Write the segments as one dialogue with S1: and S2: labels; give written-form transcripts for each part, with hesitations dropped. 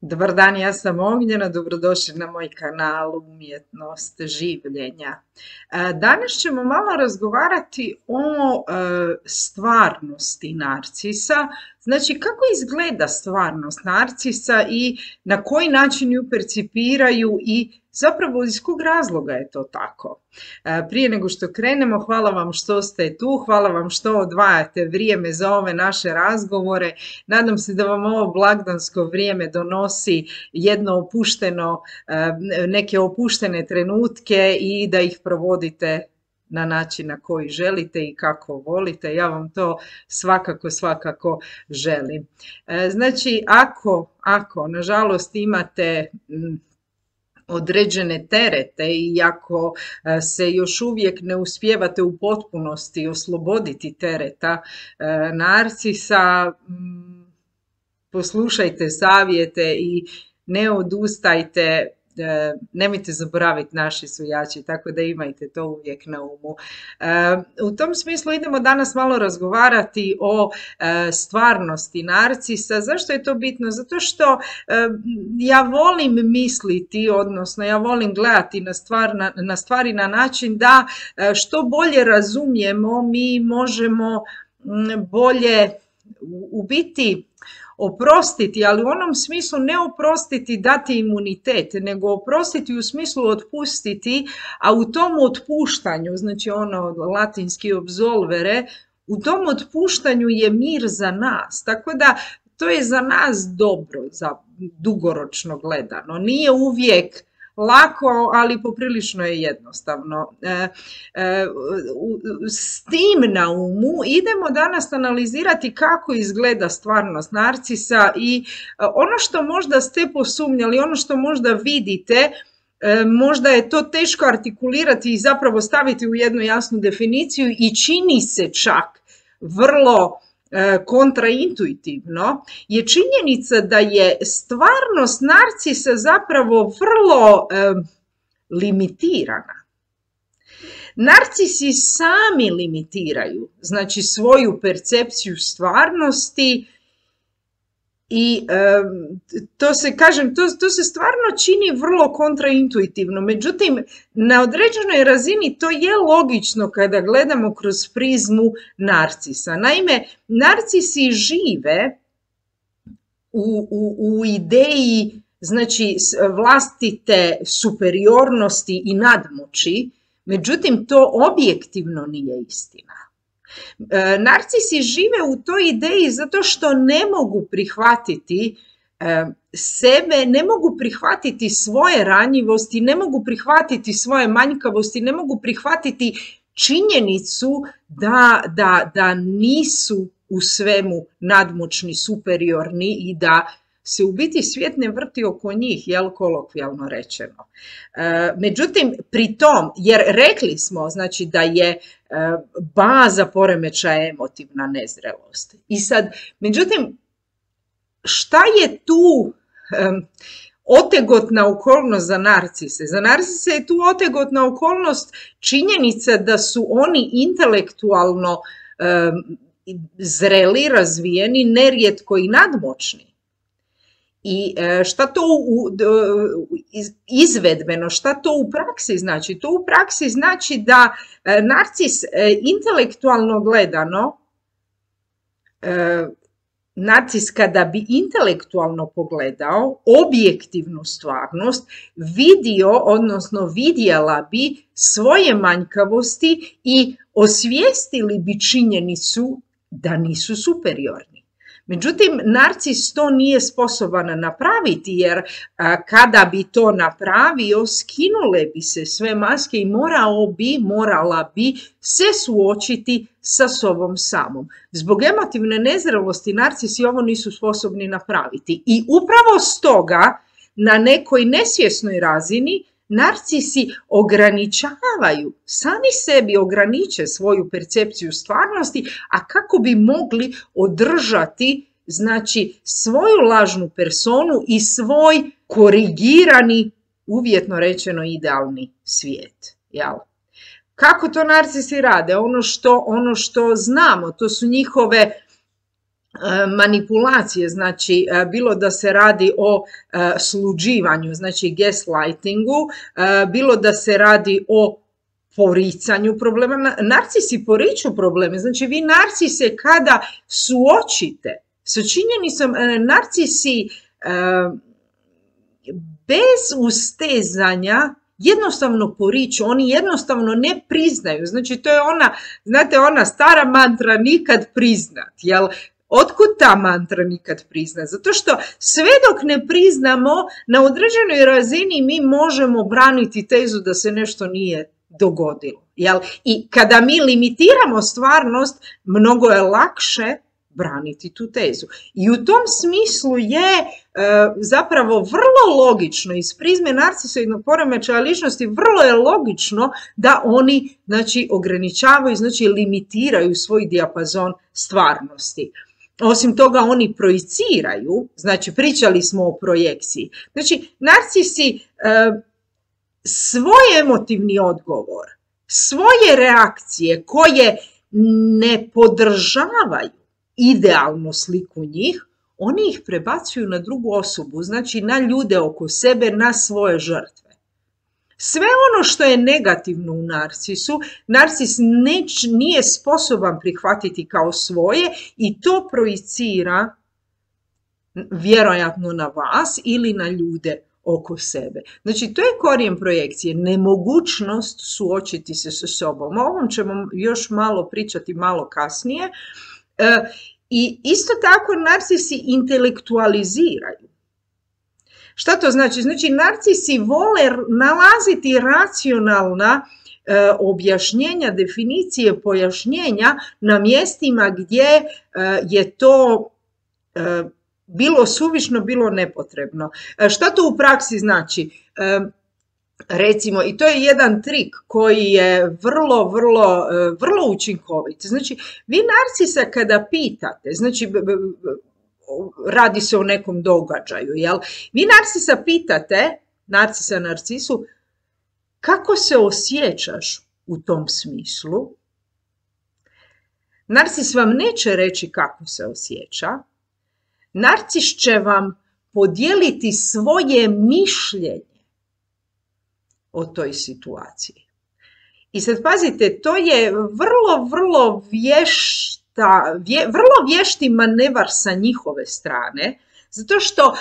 S1: Dobar dan, ja sam Ognjena, dobrodošli na moj kanal Umjetnost življenja. Danas ćemo malo razgovarati o stvarnosti narcisa, znači kako izgleda stvarnost narcisa i na koji način ju percipiraju i zapravo iz kog razloga je to tako. Prije nego što krenemo, hvala vam što ste tu, hvala vam što odvajate vrijeme za ove naše razgovore. Nadam se da vam ovo blagdansko vrijeme donosi neke opuštene trenutke i da ih provodite na način na koji želite i kako volite. Ja vam to svakako želim. Znači, ako nažalost imate određene terete i ako se još uvijek ne uspijevate u potpunosti osloboditi tereta narcisa, poslušajte savjete i ne odustajte. Nemojte zaboraviti, naši su jači, tako da imajte to uvijek na umu. U tom smislu idemo danas malo razgovarati o stvarnosti narcisa. Zašto je to bitno? Zato što ja volim misliti, odnosno ja volim gledati na stvari na način da što bolje razumijemo, mi možemo bolje u biti oprostiti, ali u onom smislu ne oprostiti, dati imunitet, nego oprostiti u smislu otpustiti, a u tom otpuštanju, znači ono latinski absolvere, u tom otpuštanju je mir za nas, tako da to je za nas dobro, za dugoročno gledano. Nije uvijek lako, ali poprilično je jednostavno. S tim na umu idemo danas analizirati kako izgleda stvarnost narcisa i ono što možda ste posumnjali, ono što možda vidite, možda je to teško artikulirati i zapravo staviti u jednu jasnu definiciju i čini se čak vrlo kontraintuitivno, je činjenica da je stvarnost narcisa zapravo vrlo limitirana. Narcisi sami limitiraju, znači, svoju percepciju stvarnosti i to se stvarno čini vrlo kontraintuitivno. Međutim, na određenoj razini to je logično kada gledamo kroz prizmu narcisa. Naime, narcisi žive u ideji, znači, vlastite superiornosti i nadmoći, međutim to objektivno nije istina. Narcisi žive u toj ideji zato što ne mogu prihvatiti sebe, ne mogu prihvatiti svoje ranjivosti, ne mogu prihvatiti svoje manjkavosti, ne mogu prihvatiti činjenicu da nisu u svemu nadmoćni, superiorni i da se u biti svijet ne vrti oko njih, kolokvijalno rečeno. Međutim, pri tom, jer rekli smo, znači, da je baza poremećaja emotivna nezrelost. I sad, međutim, šta je tu otegotna okolnost za narcise? Za narcise je tu otegotna okolnost činjenica da su oni intelektualno zreli, razvijeni, nerijetko i nadmoćni. I šta to izvedbeno, šta to u praksi znači? To u praksi znači da narcis intelektualno gledano, narcis kada bi intelektualno pogledao objektivnu stvarnost, vidio, odnosno vidjela bi svoje manjkavosti i osvijestili bi činjenicu da nisu superiorni. Međutim, narcis to nije sposoban napraviti, jer kada bi to napravio, skinule bi se sve maske i morala bi se suočiti sa sobom samom. Zbog emotivne nezrelosti narcisi ovo nisu sposobni napraviti. I upravo stoga, na nekoj nesvjesnoj razini, narcisi ograničavaju, sami sebi ograniče svoju percepciju stvarnosti, a kako bi mogli održati, znači, svoju lažnu personu i svoj korigirani, uvjetno rečeno, idealni svijet. Jel? Kako to narcisi rade? Ono što znamo, to su njihove manipulacije, znači bilo da se radi o sluđivanju, znači gaslightingu, bilo da se radi o poricanju problema. Narcisi poriču probleme, znači vi narcise kada suočite sa činjenicom, narcisi bez ustezanja jednostavno poriču, oni jednostavno ne priznaju, znači to je ona, znate, ona stara mantra nikad priznat, jel? Otkud ta mantra nikad priznat? Zato što sve dok ne priznamo, na određenoj razini mi možemo braniti tezu da se nešto nije dogodilo. Jel? I kada mi limitiramo stvarnost, mnogo je lakše braniti tu tezu. I u tom smislu je zapravo vrlo logično, iz prizme narcisoidnog poremećaja ličnosti, vrlo je logično da oni, znači, ograničavaju, znači limitiraju svoj dijapazon stvarnosti. Osim toga, oni projiciraju, znači pričali smo o projekciji. Znači, narcisi svoj emotivni odgovor, svoje reakcije koje ne podržavaju idealnu sliku njih, oni ih prebacuju na drugu osobu, znači na ljude oko sebe, na svoje žrtve. Sve ono što je negativno u narcisu, narcis nije sposoban prihvatiti kao svoje i to projicira vjerojatno na vas ili na ljude oko sebe. Znači, to je korijen projekcije, nemogućnost suočiti se sa sobom. O ovom ćemo još malo pričati malo kasnije. I isto tako narcisi intelektualiziraju. Šta to znači? Znači, narcisi vole nalaziti racionalna objašnjenja, definicije, pojašnjenja na mjestima gdje je to bilo suvišno, bilo nepotrebno. Šta to u praksi znači? Recimo, i to je jedan trik koji je vrlo učinkovit. Znači, vi narcisa kada pitate, znači, radi se o nekom događaju, jel? Vi narcisa pitate, narcisu, kako se osjećaš u tom smislu? Narcis vam neće reći kako se osjeća. Narcis će vam podijeliti svoje mišljenje o toj situaciji. I sad pazite, to je vrlo vješti manevar sa njihove strane, zato što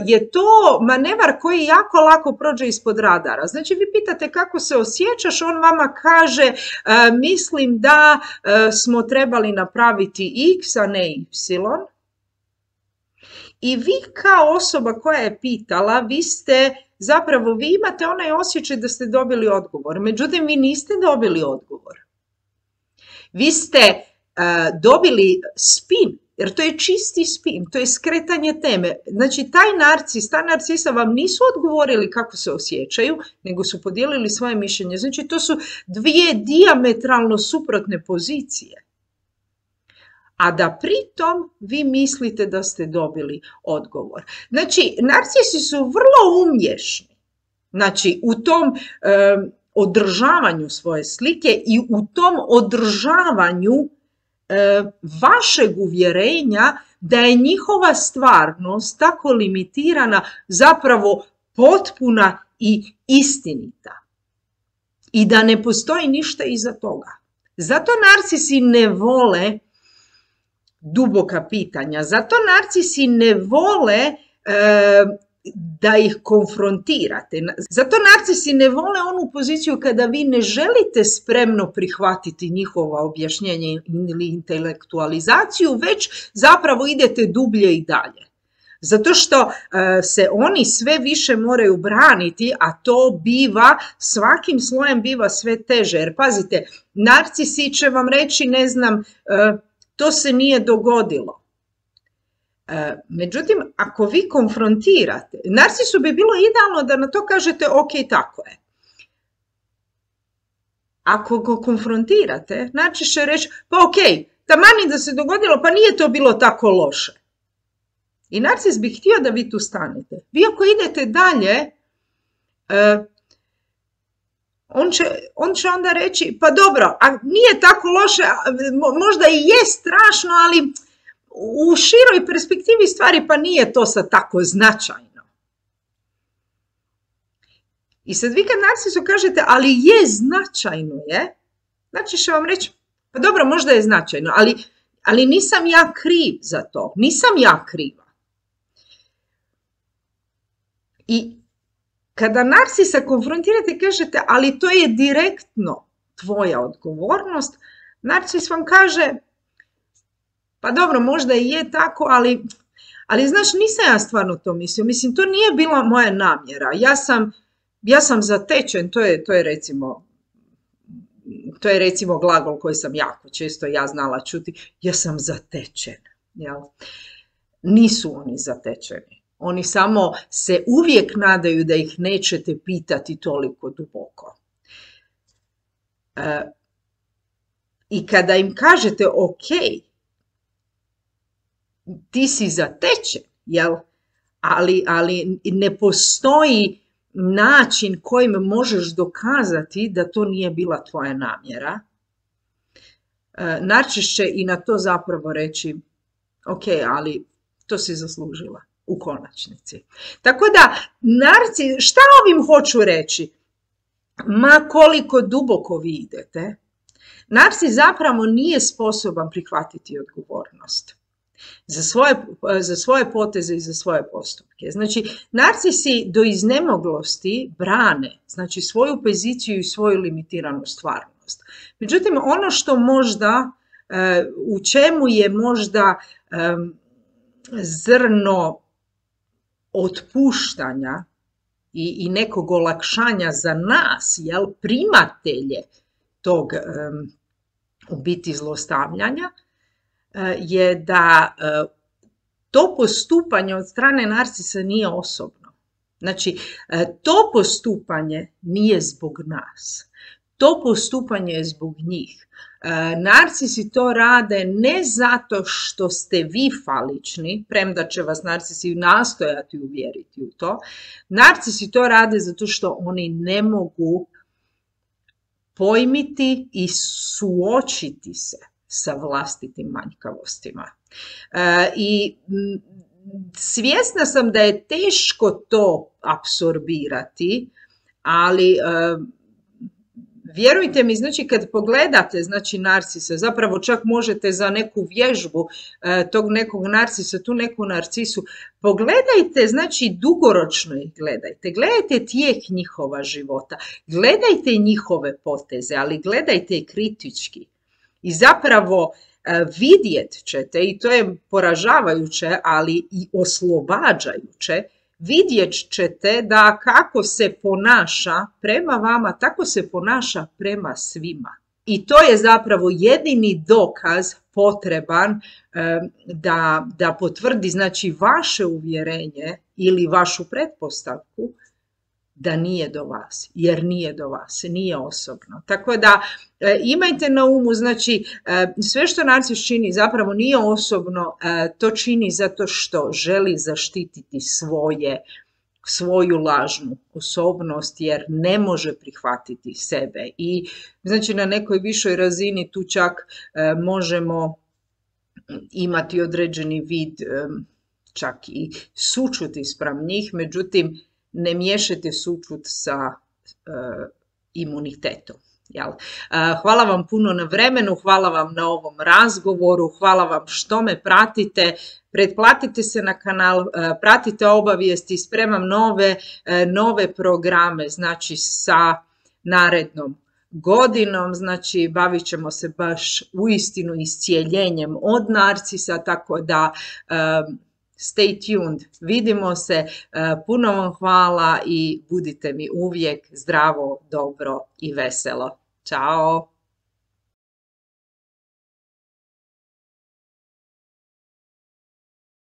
S1: je to manevar koji jako lako prođe ispod radara. Znači, vi pitate kako se osjećaš, on vama kaže mislim da smo trebali napraviti X, a ne Y. I vi kao osoba koja je pitala, vi imate onaj osjećaj da ste dobili odgovor. Međutim, vi niste dobili odgovor. Vi ste dobili spin, jer to je čisti spin, to je skretanje teme. Znači, ta narcisa vam nisu odgovorili kako se osjećaju, nego su podijelili svoje mišljenje. Znači, to su dvije dijametralno suprotne pozicije. A da pritom vi mislite da ste dobili odgovor. Znači, narcisi su vrlo umješni. Znači, u tom održavanju svoje slike i u tom održavanju vašeg uvjerenja da je njihova stvarnost tako limitirana, zapravo potpuna i istinita. I da ne postoji ništa iza toga. Zato narcisi ne vole duboka pitanja. Zato narcisi ne vole da ih konfrontirate. Zato narcisi ne vole onu poziciju kada vi ne želite spremno prihvatiti njihova objašnjenja ili intelektualizaciju, već zapravo idete dublje i dalje. Zato što se oni sve više moraju braniti, a to biva, svakim slojem biva sve teže. Jer pazite, narcisi će vam reći, ne znam, to se nije dogodilo. Međutim, ako vi konfrontirate, narcisu bi bilo idealno da na to kažete ok, tako je. Ako ga konfrontirate, narcis će reći pa ok, taman da se dogodilo, pa nije to bilo tako loše. I narcis bi htio da vi tu stanete. Vi ako idete dalje, on će onda reći, pa dobro, a nije tako loše, možda i je strašno, ali u široj perspektivi stvari pa nije to sad tako značajno. I sad vi kad narcisu kažete, ali je značajno je, znači će vam reći, pa dobro, možda je značajno, ali nisam ja kriv za to, nisam ja kriva. I kada narcisa konfrontirate, kažete, ali to je direktno tvoja odgovornost, narcis vam kaže, pa dobro, možda i je tako, ali znaš, nisam ja stvarno to mislio. Mislim, to nije bila moja namjera. Ja sam zatečen, to je recimo glagol koji sam jako često ja znala čuti, ja sam zatečen. Jel? Nisu oni zatečeni. Oni samo se uvijek nadaju da ih nećete pitati toliko duboko. I kada im kažete, ok, ti si zatečen, jel? Ali ne postoji način kojim možeš dokazati da to nije bila tvoja namjera. Narcis će i na to zapravo reći, ok, ali to si zaslužila u konačnici. Tako da, šta ovim hoću reći? Ma koliko duboko vi idete, narcis zapravo nije sposoban prihvatiti odgovornost za svoje poteze i za svoje postupke. Znači, narcisi do iznemoglosti brane, znači, svoju poziciju i svoju limitiranu stvarnost. Međutim, ono što možda, u čemu je možda zrno otpuštanja i nekog olakšanja za nas, jel, primatelje tog u biti zlostavljanja, je da to postupanje od strane narcisa nije osobno. Znači, to postupanje nije zbog nas. To postupanje je zbog njih. Narcisi to rade ne zato što ste vi falični, premda će vas narcisi nastojati uvjeriti u to. Narcisi to rade zato što oni ne mogu pojmiti i suočiti se sa vlastitim manjkavostima. I svjesna sam da je teško to apsorbirati, ali vjerujte mi, znači kad pogledate, znači, narcisa, zapravo čak možete za neku vježbu tog nekog narcisa, tu neku narcisu, pogledajte, znači dugoročno ih gledajte, gledajte tijek njihova života, gledajte njihove poteze, ali gledajte i kritički. I zapravo vidjet ćete, i to je poražavajuće, ali i oslobađajuće, vidjet ćete da kako se ponaša prema vama, tako se ponaša prema svima. I to je zapravo jedini dokaz potreban da potvrdi, znači, vaše uvjerenje ili vašu pretpostavku da nije do vas, jer nije do vas, nije osobno. Tako da imajte na umu, znači, sve što narcis čini zapravo nije osobno, to čini zato što želi zaštititi svoju lažnu osobnost, jer ne može prihvatiti sebe. I znači na nekoj višoj razini tu čak možemo imati određeni vid čak i sućuti spram njih, međutim, ne miješajte sućut sa imunitetom. Jel? Hvala vam puno na vremenu, hvala vam na ovom razgovoru, hvala vam što me pratite, pretplatite se na kanal, pratite obavijesti, spremam nove programe, znači sa narednom godinom, znači bavit ćemo se baš uistinu iscijeljenjem od narcisa, tako da stay tuned, vidimo se, puno vam hvala i budite mi uvijek zdravo, dobro i veselo. Ćao!